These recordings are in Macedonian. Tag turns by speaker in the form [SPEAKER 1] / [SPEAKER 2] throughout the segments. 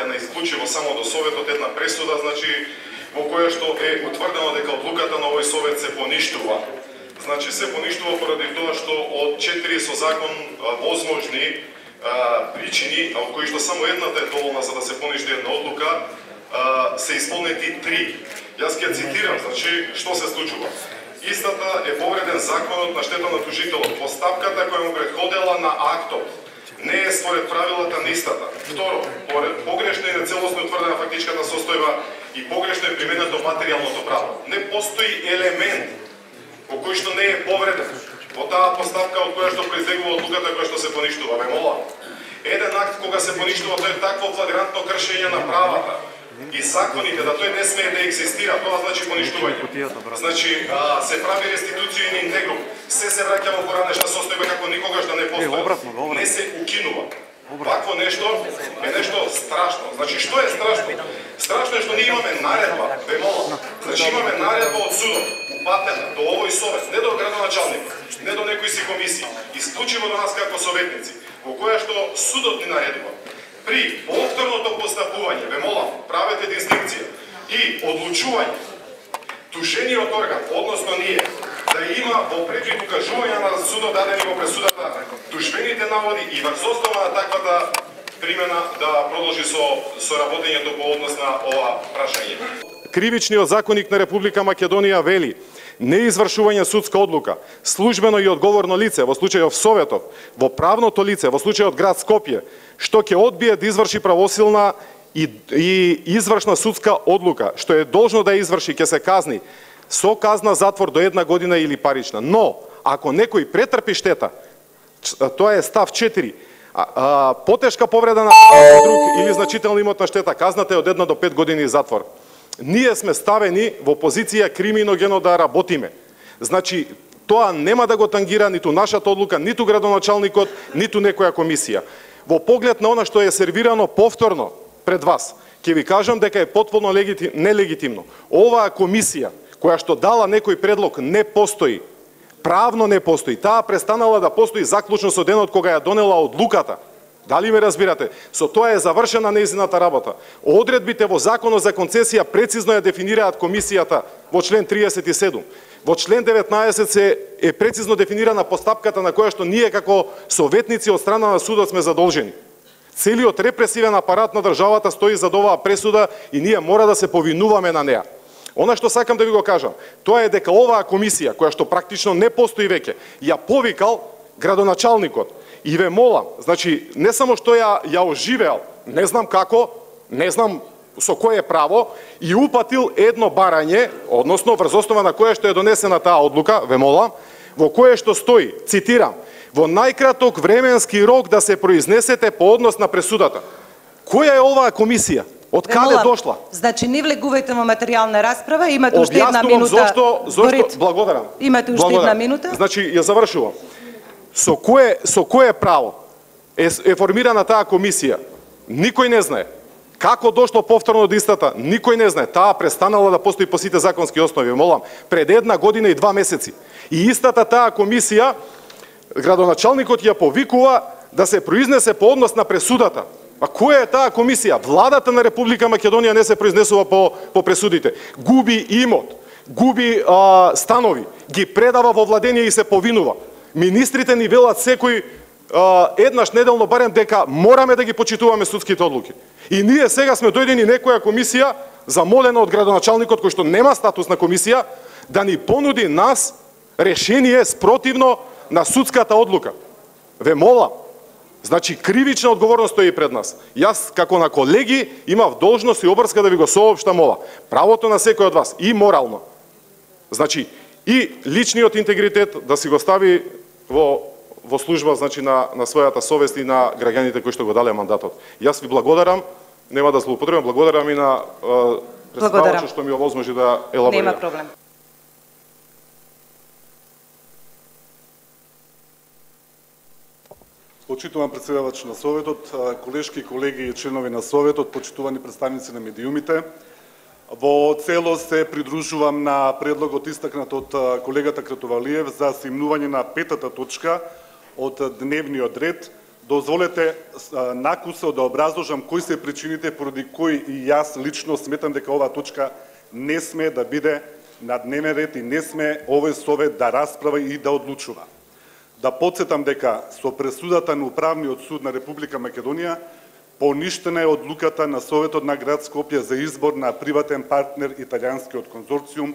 [SPEAKER 1] препратена исклучиво само до Советот една пресуда, значи во која што е утврдено дека одлуката на овој Совет се поништува. Значи се поништува поради тоа што од 4 со закон возможни причини, од кои што само едната е доволна за да се поништи една одлука, се исполнети 3. Јас ќе цитирам, значи што се случува. Истата е повреден законот на штета на тужителот. Постапката која му претходела на актот не е според правилата на истата. Второ, погрешно и нецелосно утврдена фактичката состојба и погрешно е применето материјалното право. Не постои елемент по кој што не е повреден во таа постапка од која што произлегува одлуката која што се поништува. Ве молам, еден акт кога се поништува, тој е такво флагрантно кршење на правата и законите, да тој не смее да екзистира, тоа значи поништување. Значи, се прави реституција in integrum, се враќа во поранешна состојба како никогаш да не постои. Не се укинува. Вакво нешто е нешто страшно. Значи, што е страшно? Страшно е што ние имаме наредба, ве молам. Значи, имаме наредба од судот, упатена до овој Совет, не до градоначалник, не до некои си комисии, исклучиво до нас како советници, во која што судот ни наредува. При повторното постапување, ве молам, правете дистинкција и одлучување, тужениот орган, односно ние, да има во препит укажување на судот дадени во пресудата тужбените наводи и врз основа на таквата примена да продолжи со работењето по однос на ова прашање.
[SPEAKER 2] Кривичниот законник на Република Македонија вели: неизвршување судска одлука, службено и одговорно лице во случајот Советот, во правното лице во случајот град Скопје, што ќе одбие да изврши правосилна и извршна судска одлука, што е должно да изврши, ќе се казни со казна затвор до 1 година или парична. Но, ако некој претрпи штета, тоа е став 4, потешка повреда на правото друг или значителна имотна штета, казната е од 1 до 5 години затвор. Ние сме ставени во позиција криминогено да работиме. Значи, тоа нема да го тангира ниту нашата одлука, ниту градоначалникот, ниту некоја комисија. Во поглед на она што е сервирано повторно пред вас, ќе ви кажам дека е потполно нелегитимно. Оваа комисија, која што дала некој предлог, не постои. Правно не постои. Таа престанала да постои заклучно со денот кога ја донела одлуката. Дали ме разбирате? Со тоа е завршена нејзината работа. Одредбите во Законот за концесија прецизно ја дефинираат комисијата во член 37. Во член 19 е прецизно дефинирана постапката на која што ние како советници од страна на судот сме задолжени. Целиот репресивен апарат на државата стои зад оваа пресуда и ние мора да се повинуваме на неа. Она што сакам да ви го кажам, тоа е дека оваа комисија, која што практично не постои веќе, ја повикал градоначалникот. И ве молам, значи, не само што ја оживеал, не знам како, не знам со кое право, и упатил едно барање, односно врз основа на кое што е донесена таа одлука, ве молам, во кое што стои, цитирам, во најкраток временски рок да се произнесете по однос на пресудата. Која е оваа комисија? Од каде дошла?
[SPEAKER 3] Значи, не влегувајте во материјална расправа, имате уште една минута.
[SPEAKER 2] Зошто, благодарам.
[SPEAKER 3] Имате уште една минута.
[SPEAKER 2] Значи, ја завршувам. Со кое право е формирана таа комисија? Никој не знае. Како дошло повторно до истата? Никој не знае. Таа престанала да постои по сите законски основи, молам, пред 1 година и 2 месеци. И истата таа комисија, градоначалникот ја повикува да се произнесе по однос на пресудата. А која е таа комисија? Владата на Република Македонија не се произнесува по пресудите. Губи имот, губи станови, ги предава во владение и се повинува. Министрите ни велат секој еднаш неделно барем дека мораме да ги почитуваме судските одлуки. И ние сега сме дојдени некоја комисија, замолена од градоначалникот кој што нема статус на комисија, да ни понуди нас решение спротивно на судската одлука. Ве молам, значи кривична одговорност стои пред нас. Јас како на колеги имав должност и обврска да ви го соопштам ова. Правото на секој од вас и морално. Значи и личниот интегритет да си го стави во служба, значи на својата совест и на граѓаните кои што го дале мандатот. Јас ви благодарам, нема да злоупотребам, благодарам и на представачот што ми овозможи да елаборирам.
[SPEAKER 3] Нема проблем.
[SPEAKER 4] Почитуван председавач на Советот, колешки, колеги и членови на Советот, почитувани представници на медиумите, во целост се придружувам на предлогот истакнат од колегата Кратувалиев за симнување на 5-та точка од дневниот ред, дозволете накусо да образложам кои се причините поради кои и јас лично сметам дека оваа точка не сме да биде на дневен ред и не сме овој совет да расправа и да одлучува. Да подсетам дека со пресудата на Управниот суд на Република Македонија поништена е одлуката на Советот на град Скопје за избор на приватен партнер италијанскиот конзорциум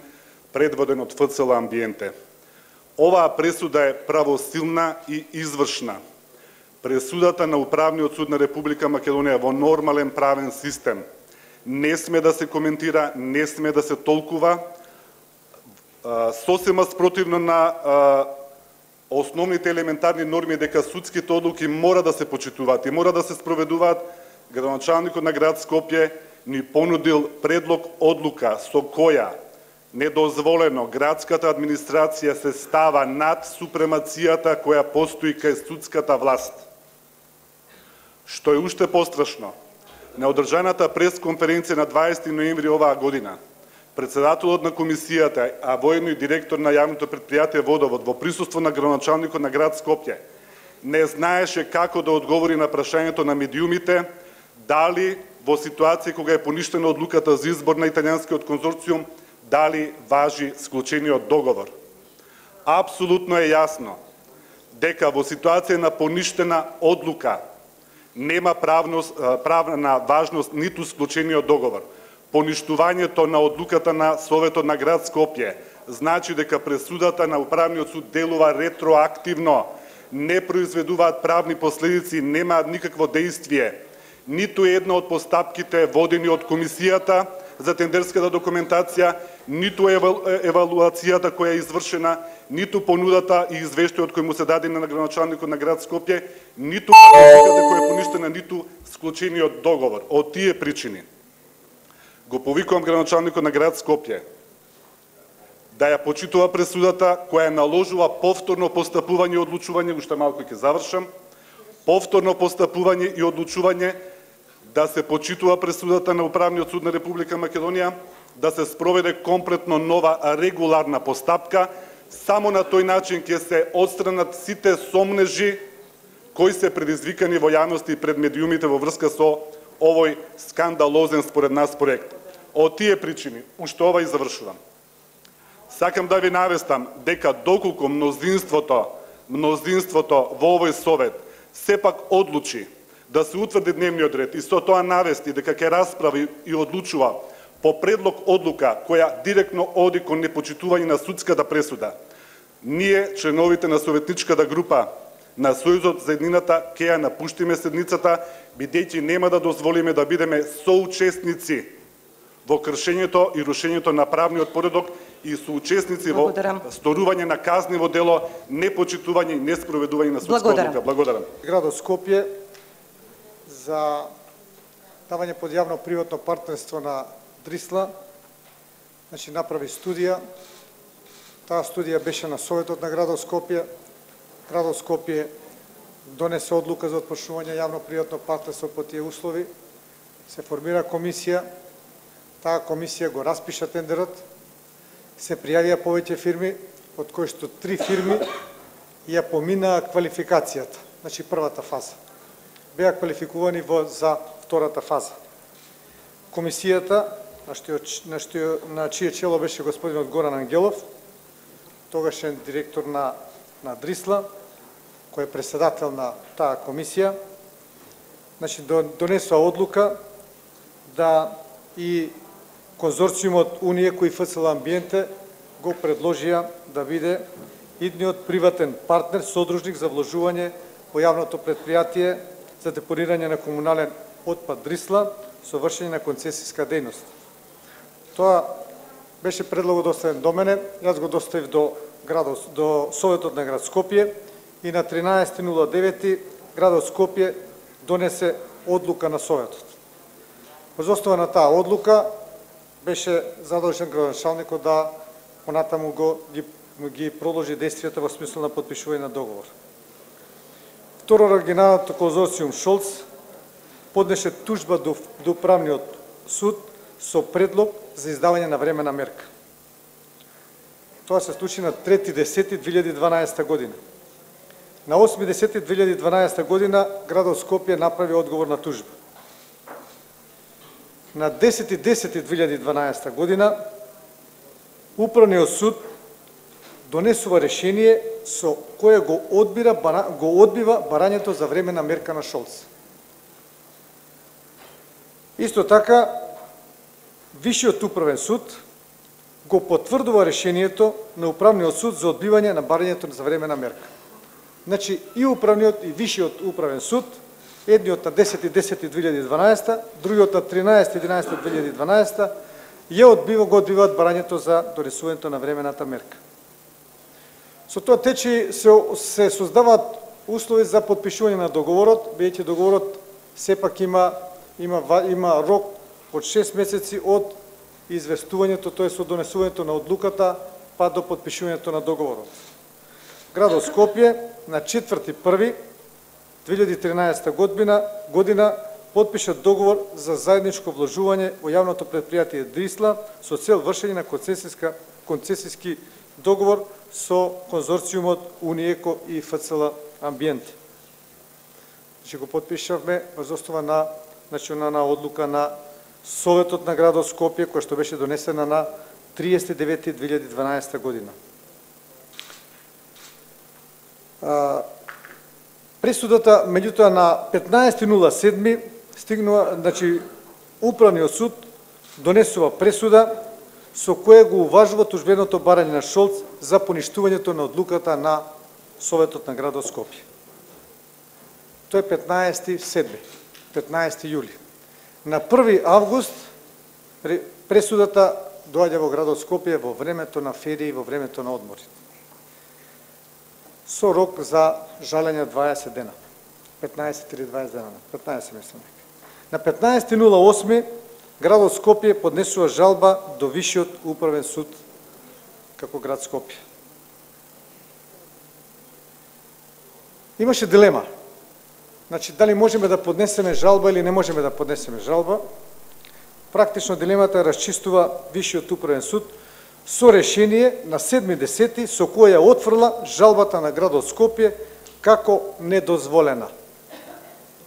[SPEAKER 4] предводен од ФЦЛ Амбиенте. Оваа пресуда е правосилна и извршна. Пресудата на Управниот суд на Република Македонија во нормален правен систем не сме да се коментира, не сме да се толкува, сосема спротивно на основните елементарни норми дека судските одлуки мора да се почитуваат и мора да се спроведуваат. Градоначалникот на град Скопје ни понудил предлог одлука со која недозволено градската администрација се става над супремацијата која постои кај судската власт. Што е уште пострашно, на одржаната пресконференција на 20 ноември оваа година, председателот на комисијата, а воедно и директор на јавното предпријатие Водовод, во присуство на градоначалникот на град Скопје, не знаеше како да одговори на прашањето на медиумите, дали во ситуација кога е поништена одлуката за избор на италијанскиот конзорциум, дали важи склучениот договор. Апсолутно е јасно дека во ситуација на поништена одлука нема правна важност ниту склучениот договор. Поништувањето на одлуката на Советот на град Скопје значи дека пресудата на Управниот суд делува ретроактивно, не произведуваат правни последици, немаат никакво дејствие. Ниту една од постапките водени од комисијата за тендерската документација, ниту евалуацијата која е извршена, ниту понудата и извештајот кој му се даде на градоначалникот на град Скопје, ниту практиката која е поништена, ниту склучениот договор. Од тие причини го повикувам градоначалникот на град Скопје да ја почитува пресудата која наложува повторно постапување и одлучување, уште малку ќе завршам, повторно постапување и одлучување, да се почитува пресудата на Управниот суд на Република Македонија, да се спроведе комплетно нова регуларна постапка, само на тој начин ќе се отстранат сите сомнежи кои се предизвикани во јавност и пред медиумите во врска со овој скандалозен според нас проект. Од тие причини, уште ова и завршувам. Сакам да ви навестам дека доколку мнозинството во овој совет сепак одлучи да се утврди дневниот ред и со тоа навести дека ќе расправи и одлучува по предлог одлука која директно оди кон непочитување на судската пресуда, ние, членовите на советничката група на Сојузот за еднината, ќе ја напуштиме седницата, бидејќи нема да дозволиме да бидеме соучесници во кршењето и рушењето на правниот поредок и соучесници во сторување на казниво дело, непочитување и неспроведување на судска одлука. Благодарам.
[SPEAKER 5] Градот Скопје за давање под јавно-приватно партнерство на Дрисла, значи направи студија. Таа студија беше на Советот на градот Скопје. Градот Скопје донесе одлука за отпочнување јавно-приватно партнерство по тие услови. Се формира комисија. Таа комисија го распиша тендерот. Се пријавија повеќе фирми, од кои што 3 фирми ја поминаа квалификацијата, значи првата фаза. Беа квалификувани за втората фаза. Комисијата, на чие чело беше господинот Горан Ангелов, тогашен директор на Дрисла, кој е председател на таа комисија, значи донесува одлука да и конзорциумот Унија кој ФЦЛ Амбиенте го предложија да биде идниот приватен партнер, содружник за вложување во јавното предпријатие за депонирање на комунален отпад Дрисла со вршење на концесиска дејност. Тоа беше предлогот доставен до мене, јас го доставив до Советот на град Скопје и на 13.09 градот Скопје донесе одлука на Советот. Воз основа на таа одлука беше задолжен градоначалникот да понатаму ги продолжи действијата во смисла на потпишување на договор. Второ, оригиналното конзорциум Шолц поднесе тужба до Управниот суд со предлог за издавање на времена мерка. Тоа се случи на 3.10.2012 година. На 8.10.2012 година градот Скопје направи одговор на тужба. На 10.10.2012 година Управниот суд донесува решение со кое го одбива барањето за времена мерка на Шолц. Исто така, Висшиот управен суд го потврдува решението на Управниот суд за одбивање на барањето за времена мерка. Значи, и Управниот и Висшиот управен суд, едниот на 10.10.2012, другиот на 13.11.2012, го одбиваат барањето за донесувањето на времената мерка. Со тоа тече се создаваат услови за подпишување на договорот, бидејќи договорот сепак има рок од 6 месеци од известувањето, тоест од донесувањето на одлуката, па до подпишувањето на договорот. Градот Скопје на 4.1.2013 година подпиша договор за заедничко вложување во јавното предпријатие Дрисла со цел вршење на концесиски договор со конзорциумот Униеко и ФЦЛ Амбиент. Значи го подпишавме врз основа на национална одлука на Советот на градот Скопје, која што беше донесена на 30.9.2012 година. Пресудата, меѓутоа, на 15.07 стигнува, значи, Управниот суд донесува пресуда со која го уважува тужбеното барање на Шолц за поништувањето на одлуката на Советот на градот Скопје. Тоа е 15.07. 15 јули. На 1 август пресудата доаѓа во градот Скопје во времето на ферии, во времето на одмори. Со рок за жалење 20 дена. 15 или 20 дена. 15 мислам. На 15.08 градот Скопје поднесува жалба до Висшиот управен суд како град Скопје. Имаше дилема. Значи, дали можеме да поднесеме жалба или не можеме да поднесеме жалба. Практично дилемата расчистува Висшиот управен суд со решение на 7.10 со која ја отфрла жалбата на градот Скопје како недозволена.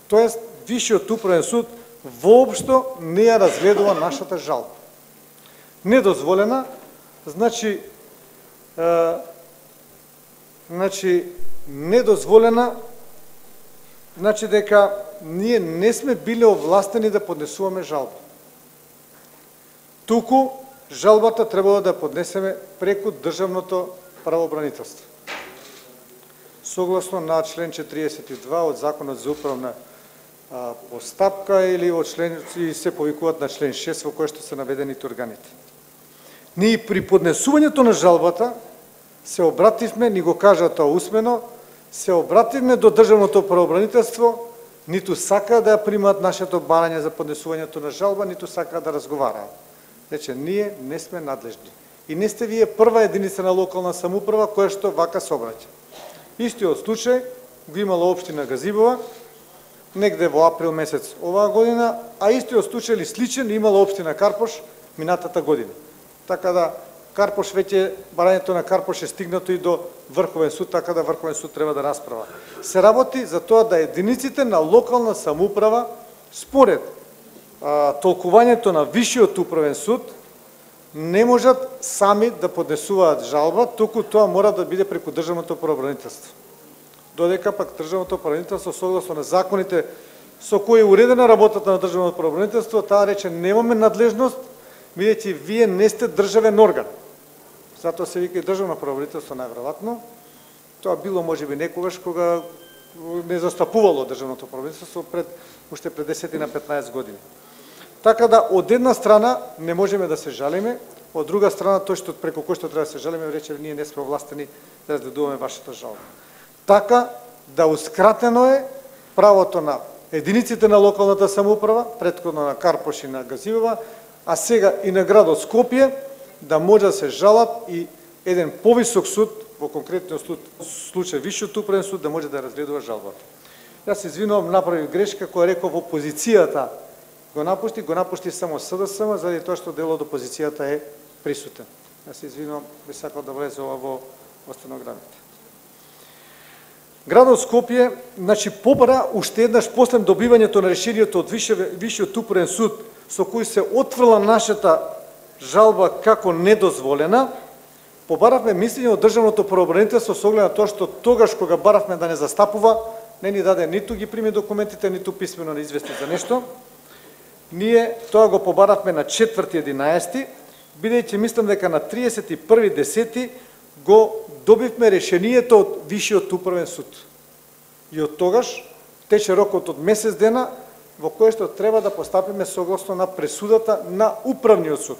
[SPEAKER 5] Тоест, Висшиот управен суд воопшто не ја разгледува нашата жалба. Недозволена, значи недозволена, значи дека ние не сме биле овластени да поднесуваме жалба. Туку жалбата требало да поднесеме преку државното правобранителство. Согласно на член 42 од Законот за управна постапка или од член и се повикуваат на член 6 во кој што се наведените органите. Ние при поднесувањето на жалбата се обративме, ни го кажа тоа усмено, се обративме до државното правобранителство, ниту сака да примат нашето барање за поднесувањето на жалба, ниту сака да разговараат. Рече, ние не сме надлежни. И не сте вие прва единица на локална самоуправа која што вака се обраќа. Истиот случај го имала општина Газибова, негде во април месец оваа година, а истиот случај или сличен имала општина Карпош минатата година. Така да Карпош веќе, барањето на Карпош е стигнато и до Врховен суд, така да Врховен суд треба да расправа. Се работи за тоа да единиците на локална самоуправа, според толкувањето на Висшиот управен суд, не можат сами да поднесуваат жалба, туку тоа мора да биде преку државното правобранителство. Додека пак државното правобранителство, согласно на законите со кои е уредена работата на државното правобранителство, таа рече немаме надлежност, бидејќи вие не сте државен орган. Затоа се вика и државно правобранителство најверојатно. Тоа било можеби некогаш кога не застапувало државното правобранителство уште пред 10 на 15 години. Така да од една страна не можеме да се жалиме, од друга страна тој што преку кој што треба да се жалиме рече ние не сме овластени да разгледуваме вашата жалба. Така да ускратено е правото на единиците на локалната самоуправа, претходно на Карпош и на Газибова, а сега и на градот Скопје, да може да се жалат и еден повисок суд, во конкретниот случај Висшиот управен суд, да може да разгледува жалбата. Јас се извинувам, направив грешка која реков опозицијата го напушти само СДСМ, заради тоа што дел од опозицијата е присутен. Јас се извинувам, би сакал да влезе ова во стенограмите. Градот Скопје, значи, побара уште еднаш после добивањето на решението од Висшиот управен суд, со кој се отфрла нашата жалба како недозволена, побаравме мислење од Државното правобранителство со оглед на тоа што тогаш кога баравме да не застапува, не ни даде ниту ги прими документите, ниту писмено не извести за нешто. Ние тоа го побаравме на 4.11, бидејќи мислам дека на 31.10 го добивме решението од Висшиот управен суд. И од тогаш тече рокот од месец дена во кој што треба да постапиме согласно на пресудата на управниот суд.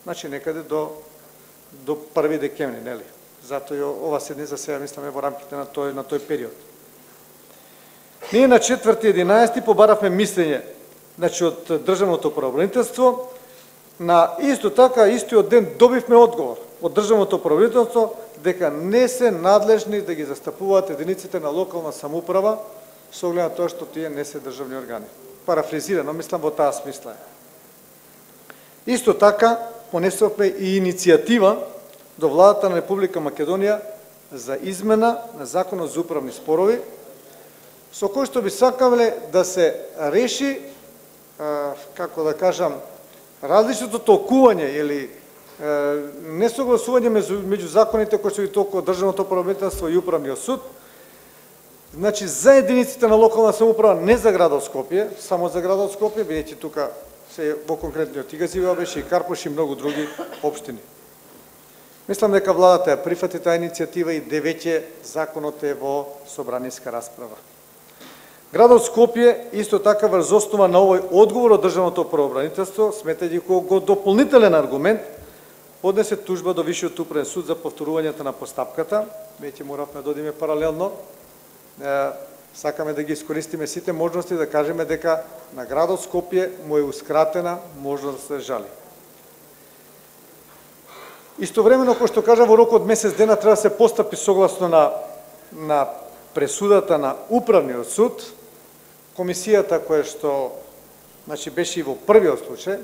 [SPEAKER 5] Значи некаде до 1 декември, нели? Затоа и ова седница сега мисламе во рамките на тој период. Ние на 4.11 побаравме мислење, значи од Државното правобранителство, на исто така истиот ден добивме одговор од Државното правобранителство дека не се надлежни да ги застапуваат единиците на локална самоуправа со оглед на тоа што тие не се државни органи. Парафризирано, мислам во таа смисла. Исто така понесовме и иницијатива до владата на Република Македонија за измена на Законот за управни спорови, со кој што би сакале да се реши, како да кажам, различното толкување или несогласување меѓу законите кои се толкува Државното правобранителство и Управниот суд, значи за единиците на локална самоуправа, не за градот Скопје, само за градот Скопје, бидејќи тука се во конкретниот Игазива беше и Карпош и многу други општини. Мислам дека владата ја прифати таа иницијатива и веќе законот е во собраниска расправа. Градот Скопје исто така врз основа на овој одговор од Државното правобранителство, сметајќи го дополнителен аргумент, поднесе тужба до Висшиот управен суд за повторувањето на постапката. Веќе моравме да одиме паралелно. Сакаме да ги искористиме сите можности да кажеме дека на градот Скопје му е ускратена можност да се жали. Истовремено, кој што кажа, во рок од месец дена треба да се постапи согласно на пресудата на Управниот суд. Комисијата која што беше и во првиот случај,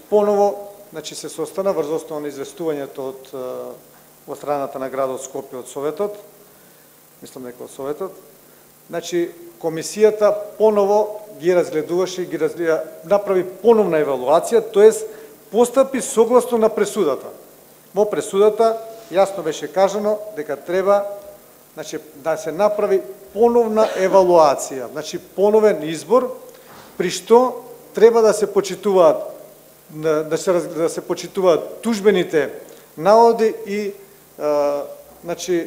[SPEAKER 5] поново се состана врз основа на известувањето од страната на градот Скопје од Советот, мислам дека од Советот, комисијата поново ги разгледуваше и направи поновна евалуација, тоест постапи согласно на пресудата. Во пресудата јасно беше кажано дека треба да се направи поновна евалуација, поновен избор, при што треба да се почитуваат тужбените наводи и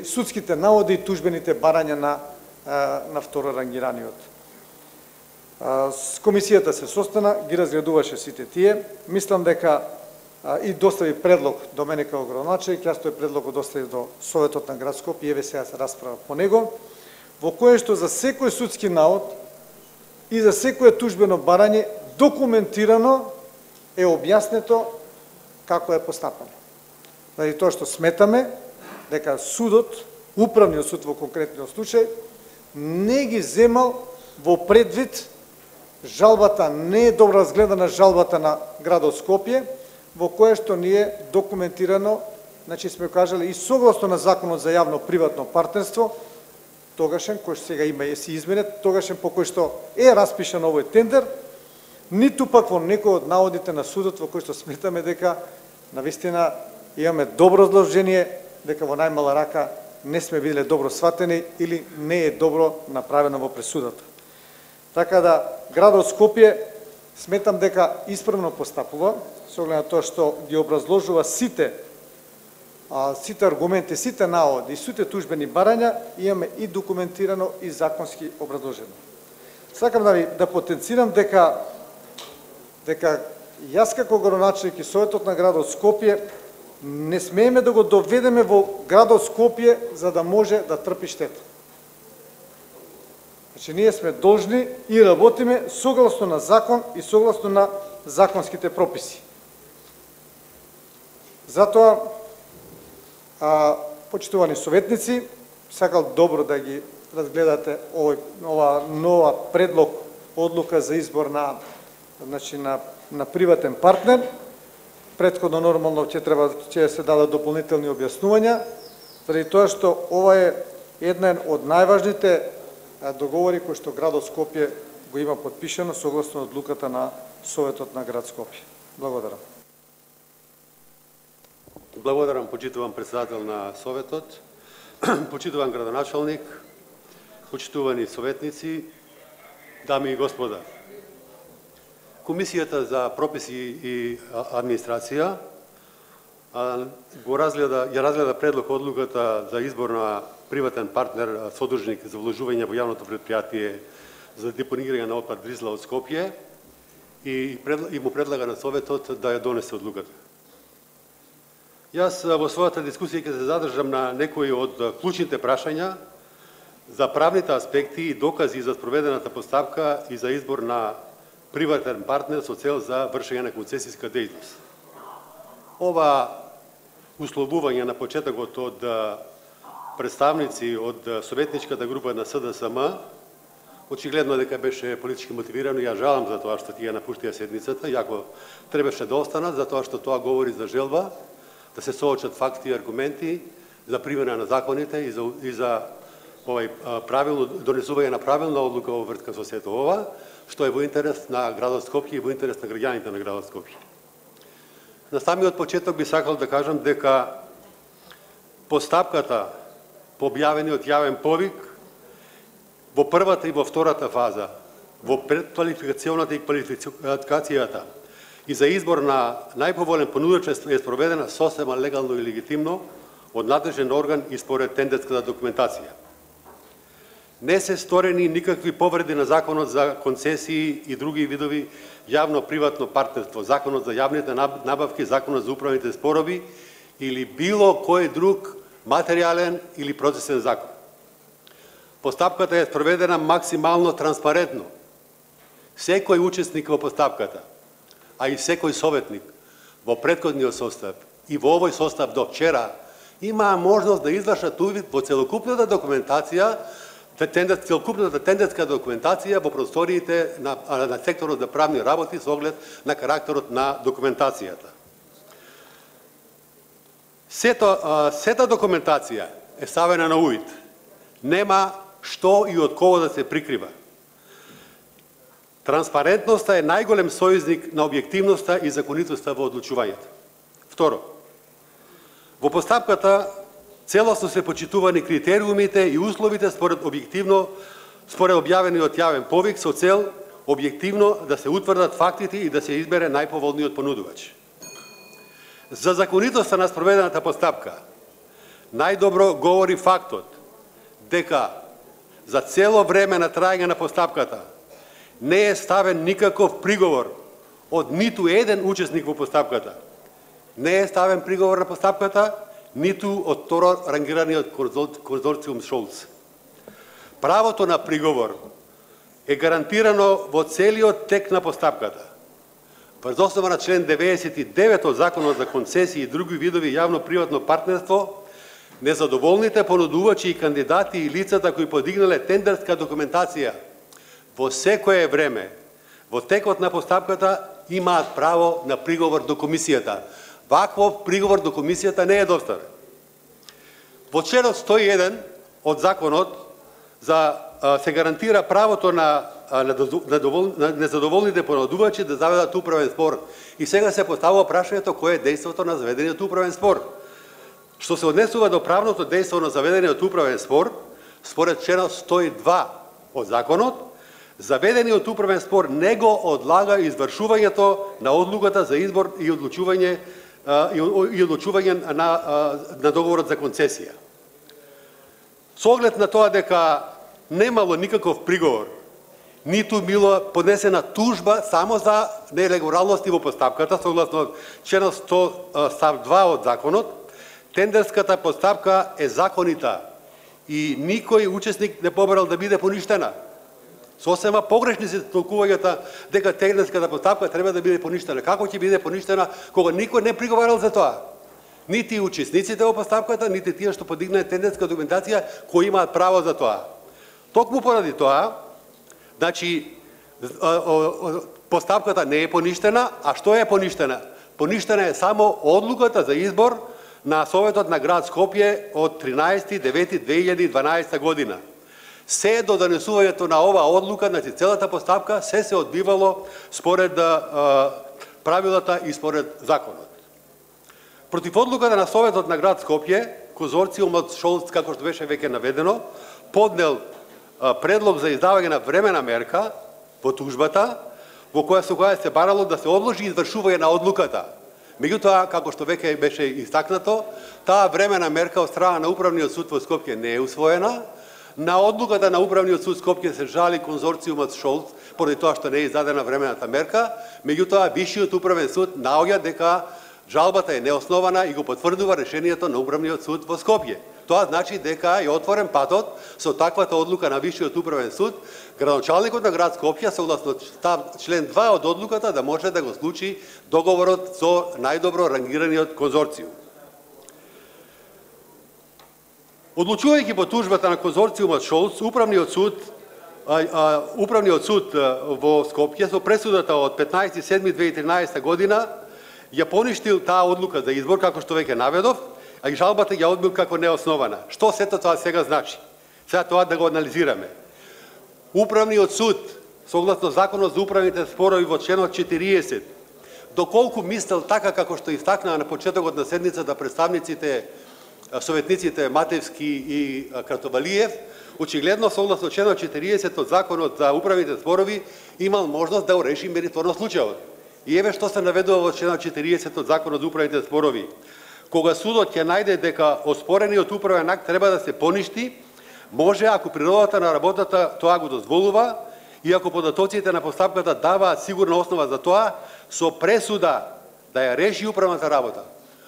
[SPEAKER 5] судските наводи и тужбените барања на второрангираниот. Комисијата се состана, ги разгледуваше сите тие. Мислам дека и достави предлог до мене како градоначелник, јас тој предлог го доставив до Советот на град Скопје и еве сега се расправа по него, во кое што за секој судски навод и за секое тужбено барање документирано е објаснето како е постапано. Заради тоа што сметаме дека судот, Управниот суд во конкретниот случај, не ги земал во предвид жалбата, не е добро разгледана жалбата на градот Скопје, во кое што ние документирано, сме кажали и согласно на Законот за јавно-приватно партнерство, тогашен, кој што сега има и си изменет, тогашен по кој што е распишан овој тендер, ниту пак во некој од наводите на судот во кој што сметаме дека навистина имаме добро изложение, дека во најмала рака не сме биле добро сватени или не е добро направено во пресудата. Така да, градот Скопје сметам дека исправно постапува, со оглед на тоа што ги образложува сите аргументи, сите наводи и сите тужбени барања, имаме и документирано и законски образложено. Сакам да потенцирам дека јас како градоначелник и Советот на градот Скопје не смееме да го доведеме во градот Скопје за да може да трпи штета. Ние сме должни и работиме согласно на закон и согласно на законските прописи. Затоа, почитувани советници, сакал добро да ги разгледате ова нова предлог одлука за избор на приватен партнер. Претходно нормално ќе се дадат дополнителни објаснувања, заради тоа што ова е еден од најважните договори кои што градот Скопје го има подпишано согласно одлуката на Советот на град Скопје. Благодарам.
[SPEAKER 6] Благодарам, почитуван председател на Советот, почитуван градоначалник, почитувани советници, дами и господа. Комисијата за прописи и администрација ја разгледа предлог одлуката за избор на приватен партнер содружник за вложување во јавното предпријатие за депонирање на отпад Дрисла од Скопје и му предлага на Советот да ја донесе одлуката. Јас во својата дискусија ќе се задржам на некои од клучните прашања за правните аспекти и докази за спроведената постапка и за избор на приватен партнер со цел за вршење на концесиска дејност. Ова условување на почетокот од представници од советничката група на СДСМ очигледно дека беше политички мотивирано и ја жалам за тоа што тие напуштија седницата, иако требаше да останат, затоа што тоа говори за желба да се соочат факти и аргументи за примена на законите и за правилно донесување на правилна одлука во врска со сето ова, што е во интерес на градот Скопје и во интерес на граѓаните на градот Скопје. На самиот почеток би сакал да кажам дека постапката по објавениот јавен повик во првата и во втората фаза, во предквалификационата и квалификацијата и за избор на најповолен понудувач е спроведена сосема легално и легитимно од надлежен орган и според тендерската документација. Не се сторени никакви повреди на Законот за концесии и други видови јавно-приватно партнерство, Законот за јавните набавки, Законот за управните спорови или било кој друг материјален или процесен закон. Постапката е спроведена максимално транспарентно. Секој учесник во постапката, а и секој советник во претходниот состав и во овој состав до вчера имаа можност да извршат увид во целокупната документација, целокупната тендерска документација во просториите на секторот за правни работи со оглед на карактерот на документацијата. Сета документација е ставена на увид. Нема што и од кого да се прикрива. Транспарентноста е најголем сојузник на објективноста и законитоста во одлучувањето. Второ, во постапката целосно се почитувани критериумите и условите според објавениот јавен повик со цел објективно да се утврдат фактите и да се избере најповолниот понудувач. За законитоста на спроведената постапка најдобро говори фактот дека за цело време на трајање на постапката не е ставен никаков приговор од ниту еден учесник во постапката. Не е ставен приговор на постапката ниту од второ рангираниот конзорциум Шолц. Правото на приговор е гарантирано во целиот тек на постапката. Врз основа на член 99 од Законот за концесии и други видови јавно-приватно партнерство, незадоволните понудувачи и кандидати и лицата кои подигнале тендерска документација во секое време, во текот на постапката, имаат право на приговор до комисијата. Ваков приговор до комисијата не е доставен. Во членот 101 од законот се гарантира правото на незадоволните понудувачи да заведат управен спор. И сега се поставува прашањето кое е дејството на заведениот управен спор. Што се однесува до правното дејство на заведениот управен спор, според членот 102 од законот, заведениот управен спор не го одлага извршувањето на одлуката за избор и одлучување на договорот за концесија. Со оглед на тоа дека немало никаков приговор, ниту било поднесена тужба само за нелегалности во постапката, согласно членот 100 став 2 од законот, тендерската постапка е законита и никој учесник не побарал да биде поништена. Сосема погрешни се толкувањата дека тендерската постапка треба да биде поништена. Како ќе биде поништена кога никој не приговарал за тоа? Нити учесниците во постапката, нити тие што подигнале тендерска документација кои имаат право за тоа. Токму поради тоа, значи постапката не е поништена, а што е поништена? Поништена е само одлуката за избор на Советот на град Скопје од 13.9.2012 година. Се до донесувањето на оваа одлука, значи целата постапка се одбивало според правилата и според законот. Против одлуката на Советот на град Скопје, конзорциумот Шолц, како што беше веќе наведено, поднел предлог за издавање на времена мерка во тужбата, во која се барало да се одложи извршување на одлуката. Меѓутоа, како што веќе беше истакнато, таа времена мерка од страна на Управниот суд во Скопје не е усвоена. На одлуката на Управниот суд Скопје се жали конзорциумот Шолц поради тоа што не е издадена времената мерка, меѓутоа Висшиот управен суд наоѓа дека жалбата е неоснована и го потврдува решението на Управниот суд во Скопје. Тоа значи дека е отворен патот со таквата одлука на Висшиот управен суд, градоначалникот на град Скопје согласно член 2 од одлуката да може да го случи договорот со најдобро рангираниот конзорциум. Одлучувајќи по тужбата на конзорциумот Шолц, Управниот суд во Скопје со пресудата од 15.7.2013 година ја поништил таа одлука за избор, како што веќе наведов, а и жалбата ја одбил како неоснована. Што сето тоа сега значи? Сега тоа да го анализираме. Управниот суд, согласно Законот за управните спорови во членот 40, доколку мислел така како што истакнаа на почетокот на седницата представниците, советниците Матевски и Кратовалиев, очигледно согласно членот 40 од Законот за управните спорови имал можност да реши мериторно случајот. И еве што се наведува во членот 40 од Законот за управните спорови. Кога судот ќе најде дека оспорениот управен акт треба да се поништи, може ако природата на работата тоа го дозволува и ако податоците на постапката даваат сигурна основа за тоа, со пресуда да ја реши управната работа.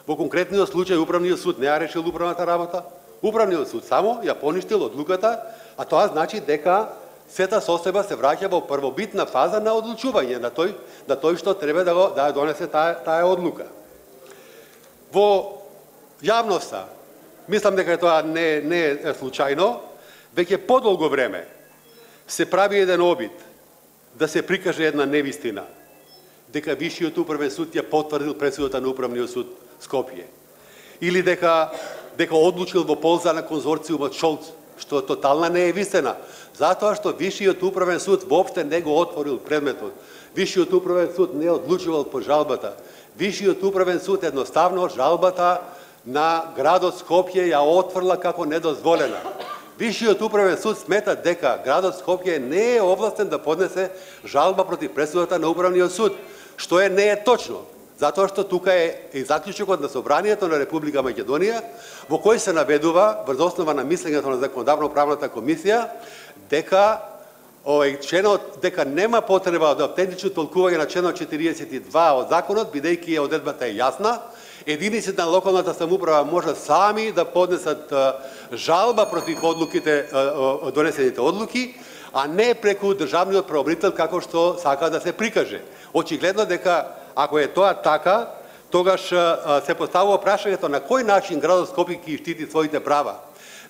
[SPEAKER 6] Во конкретниот случај Управниот суд не ја решил управната работа, Управниот суд само ја поништил одлуката, а тоа значи дека сета состојба се враќа во првобитна фаза на одлучување на тој што треба да ја донесе таа одлука. Во јавноста, мислам дека тоа не е случајно, веќе подолго време се прави еден обид да се прикаже една невистина, дека Висшиот управен суд ја потврдил пресудата на Управниот суд Скопје, или дека одлучил во полза на конзорциумот Шолц, што тотална не е вистина, затоа што Висшиот управен суд воопште не го отворил предметот. Висшиот управен суд не одлучувал по жалбата. Висшиот управен суд едноставно жалбата на градот Скопје ја отфрла како недозволена. Висшиот управен суд смета дека градот Скопје не е овластен да поднесе жалба против пресудата на Управниот суд, што не е точно. Затоа што тука е и заклучокот на Собранието на Република Македонија, во кој се наведува, врз основа на мислењето на Законодавно-правната комисија, дека дека нема потреба од автентично толкување на членот 42 од законот, бидејќи одредбата е јасна, единиците на локалната самоуправа може сами да поднесат жалба против одлуките, донесените одлуки, а не преку државниот правобранител како што сака да се прикаже. Очигледно дека ако е тоа така, тогаш се поставува прашањето на кој начин градот Скопје ќе штити своите права.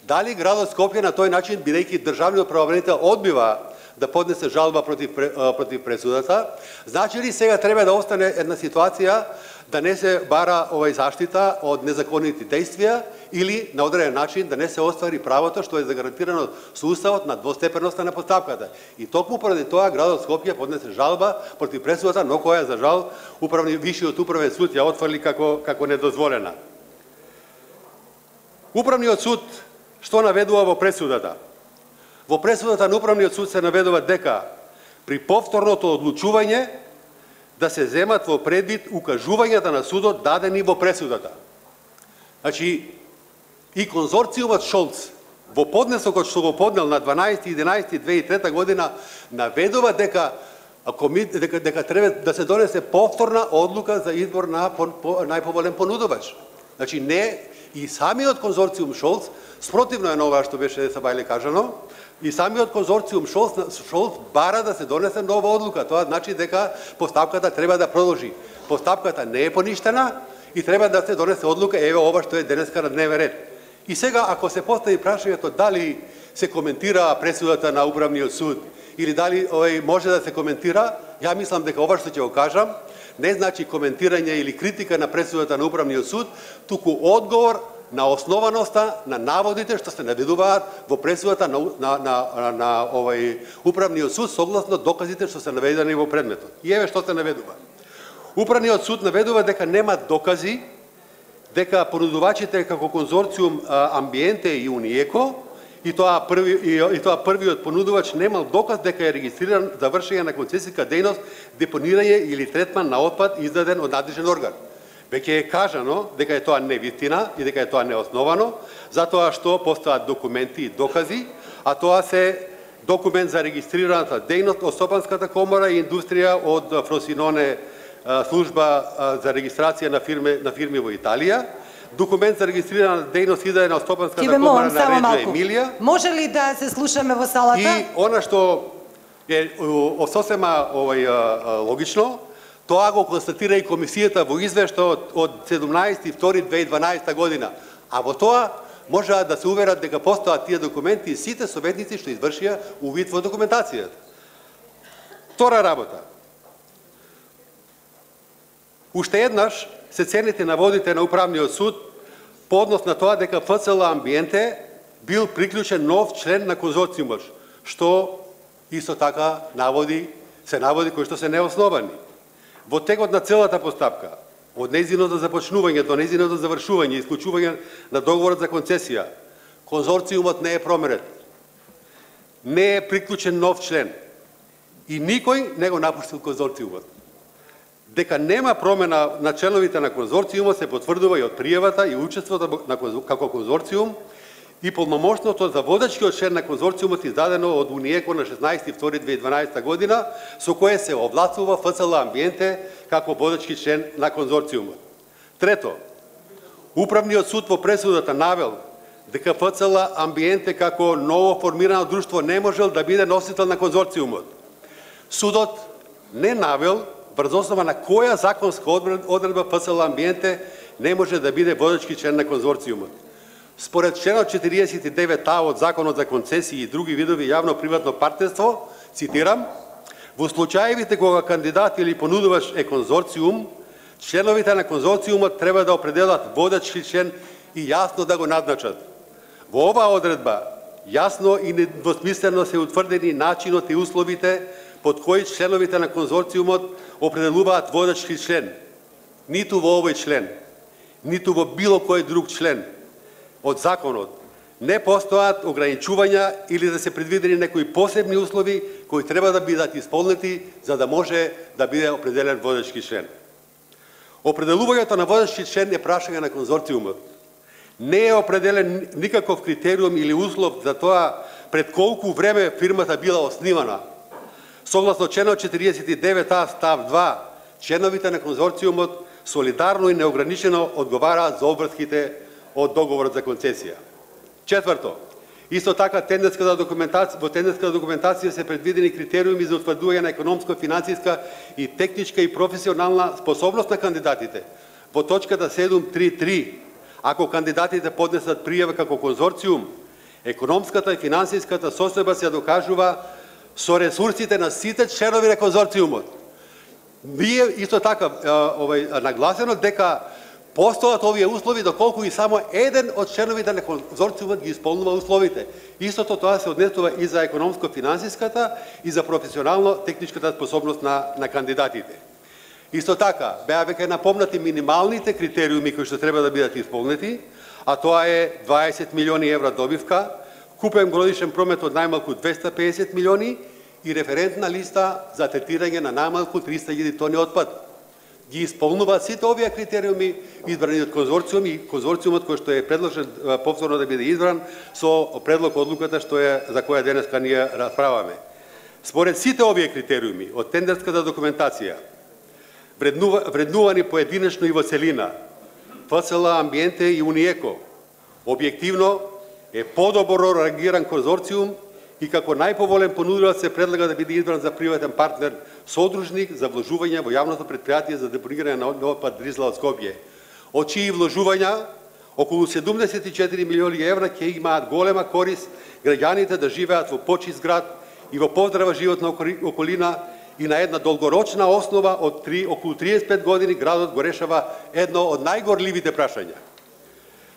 [SPEAKER 6] Дали градот Скопје на тој начин, бидејќи државниот правобранител одбива да поднесе жалба против пресудата, значи ли сега треба да остане една ситуација да не се бара заштита од незаконити действија или на одреден начин да не се оствари правото што е загарантирано со уставот на двостепеноста на постапката. И токму поради тоа градот Скопје поднесе жалба против пресудата, но која за жал Висшиот управен суд ја отфрли како недозволена. Управниот суд што наведува во пресудата? Во пресудата на Управниот суд се наведува дека при повторното одлучување да се земат во предвид укажувањата на судот дадени во пресудата. Значи, и конзорциумот Шолц во поднесокот што го поднел на 12.11.2003 година наведува дека треба да се донесе повторна одлука за избор на најповолен понудувач. Значи, не и самиот конзорциум Шолц, спротивно е на ова што беше сабајле кажано, и самиот конзорциум Шолц бара да се донесе нова одлука. Тоа значи дека постапката треба да продолжи. Постапката не е поништена и треба да се донесе одлука, еве ова што е денеска на дневен ред. И сега, ако се постави прашањето дали се коментира пресудата на Управниот суд или дали може да се коментира, ја мислам дека ова што ќе го кажам не значи коментирање или критика на пресудата на Управниот суд, туку одговор на основаноста на наводите што се наведуваат во пресудата на Управниот суд согласно доказите што се наведени во предметот. И еве што се наведува. Управниот суд наведува дека нема докази дека понудувачите како конзорциум Амбиенте и Униеко и тоа првиот понудувач немал доказ дека е регистриран за вршење на концесиска дејност, депонирање или третман на отпад издаден од надлежен орган. Веќе е кажано дека е тоа невистина и дека е тоа неосновано, затоа што постојат документи и докази, а тоа се документ за регистрираната дејност од Стопанската комора и индустрија од Фросиноне служба за регистрација на фирми во Италија, документ за регистрирана дејност издаден од Стопанската комора на Реджа Емилија.
[SPEAKER 3] Може ли да се слушаме во салата?
[SPEAKER 6] И она што е сосема логично, тоа го констатира и комисијата во извештајот од 17.2.2012 година. А во тоа можеа да се уверат дека постојат тие документи и сите советници што извршија увид во документацијата. Втора работа. Уште еднаш се цените наводите на Управниот суд по однос на тоа дека ФЦЛ Амбиенте бил приклучен нов член на конзорциумот, што исто така наводи кои што се неосновани. Во текот на целата постапка, од нејзиното започнување до нејзиното завршување и исклучување на договорот за концесија, конзорциумот не е променет. Не е приклучен нов член. И никој не го напуштил конзорциумот. Дека нема промена на членовите на конзорциумот се потврдува и од пријавата и учеството како конзорциум и полномошното за водачкиот член на конзорциумот издадено од Униеко на 16.2.2012 година, со кое се овластува ФЦЛ Амбиенте како водачки член на конзорциумот. Трето, Управниот суд во пресудата навел дека ФЦЛ Амбиенте како ново формирано друштво не можел да биде носител на конзорциумот. Судот не навел врз основа на која законска одредба ФЦЛ Амбиенте не може да биде водачки член на конзорциумот. Според членот 49а од Законот за концесии и други видови јавно-приватно партнерство, цитирам, во случаевите кога кандидат или понудувач е конзорциум, членовите на конзорциумот треба да определат водачки член и јасно да го назначат. Во оваа одредба јасно и недвосмислено се утврдени начинот и условите под кои членовите на конзорциумот определуваат водачки член. Ниту во овој член, ниту во било кој друг член од законот не постојат ограничувања или да се предвидени некои посебни услови кои треба да бидат исполнети за да може да биде определен водачки член. Определувањето на водачки член е прашање на конзорциумот. Не е определен никаков критериум или услов за тоа пред колку време фирмата била основана. Согласно членот 49а став 2, членовите на конзорциумот солидарно и неограничено одговараат за обврските од договорот за концесија. Четврто, исто така во тендерската документација се предвидени критериуми за утврдување на економско, финансиска и техничка и професионална способност на кандидатите. Во точката 7.3.3, ако кандидатите поднесат пријава како конзорциум, економската и финансиската состојба се докажува со ресурсите на сите членови на конзорциумот. Вие исто така нагласено дека постојат овие услови доколку и само еден од членовите на конзорциумот ги исполнува условите. Истото тоа се однесува и за економско-финансиската и за професионално-техничката способност на кандидатите. Исто така, беа веќе напомнати минималните критериуми кои што треба да бидат исполнети, а тоа е 20 милиони евра добивка, купен годишен промет од најмалку 250 милиони и референтна листа за третирање на најмалку 300.000 тони отпад. Ги исполнуваат сите овие критериуми избрани од конзорциум и конзорциумот кој што е предложен повторно да биде избран со предлог одлуката за која денеска ние расправаме. Според сите овие критериуми од тендерската документација, вреднувани поединечно и во целина, ФЦЛ Амбиенте и Униеко, објективно е подобро реагиран конзорциум и како најповолен понудувач се предлага да биде избран за приватен партнер содружник за вложување во јавното претпријатие за депонирање на отпад Дрисла од Скопје, од чии вложувања Околу 74 милиони евра ќе имаат голема корист граѓаните да живеат во почист град и во поздрава животна околина, и на една долгорочна основа од околу 35 години градот го решава едно од најгорливите прашања.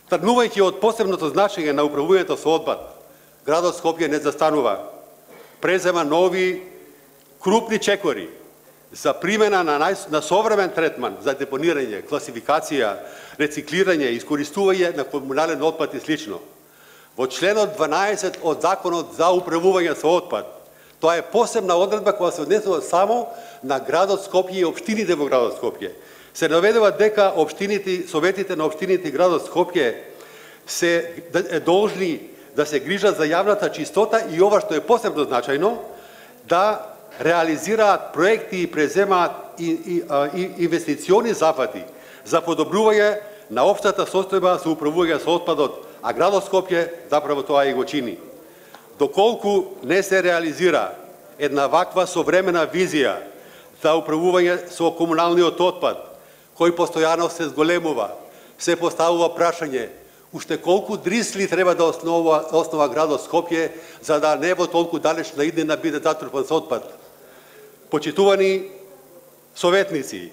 [SPEAKER 6] Тргнувајќи од посебното значење на управувањето со отпад, градот Скопје не застанува, презема нови крупни чекори за примена на современ третман за депонирање, класификација, рециклирање, искористување на комунален отпад и слично. Во членот 12 од Законот за управување со отпад, тоа е посебна одредба која се однесува само на градот Скопје и општините во градот Скопје. Се наведува дека советите на општините и градот Скопје се должни да се грижат за јавната чистота и ова што е посебно значајно, да реализираат проекти и преземаат инвестициони зафати за подобрување на општата состојба со управување со отпадот, а градот Скопје заправо тоа и го чини. Доколку не се реализира една ваква современа визија за управување со комуналниот отпад, кој постојано се зголемува, се поставува прашање уште колку Дрисли треба да основа градот Скопје за да не во толку далечна иднина биде затрупан со отпад. Почитувани советници,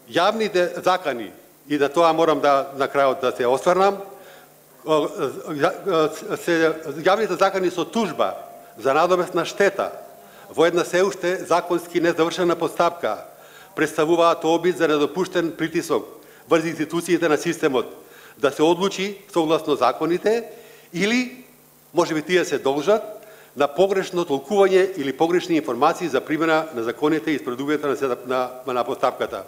[SPEAKER 6] јавните закани, и да тоа морам на крајот да се осврнам, јавните закани со тужба за надоместна штета во една се уште законски незавршена постапка представуваат обид за недопуштен притисок врз институциите на системот да се одлучи согласно законите или можеби тие се должат на погрешно толкување или погрешни информации за примена на законите и спредувањето на постапката.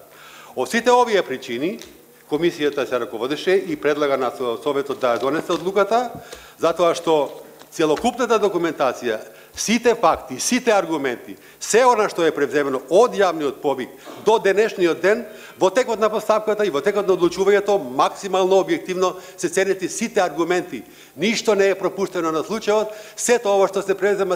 [SPEAKER 6] Од сите овие причини Комисијата се раководеше и предлага на Советот да донесе одлуката, затоа што целокупната документација, сите факти, сите аргументи, се она што е превземено од јавниот повик до денешниот ден, во текот на постапката и во текот на одлучувањето, максимално објективно се ценети сите аргументи. Ништо не е пропуштено на случајот, сето ова што се презема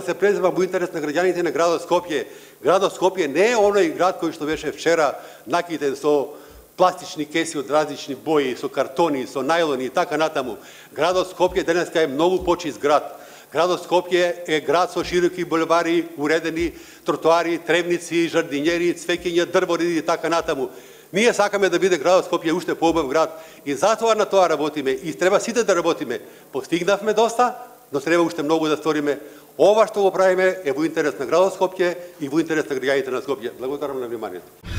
[SPEAKER 6] во интерес на граѓаните на градот Скопје. Градот Скопје не е оној град кој што беше вчера накитен со пластични кеси од различни бои, со картони, со најлони и така натаму. Градот Скопје денеска е многу почист град. Градот Скопје е град со широки булевари, уредени тротоари, тревници, жардинјери, цвеќења, дрвори и така натаму. Ние сакаме да биде градот Скопје уште поубав град и затоа на тоа работиме и треба сите да работиме. Постигнавме доста, но треба уште многу да сториме. Ова што го правиме е во интерес на градот Скопје и во интерес на граѓаните на Скопје. Благодарам на вниманието.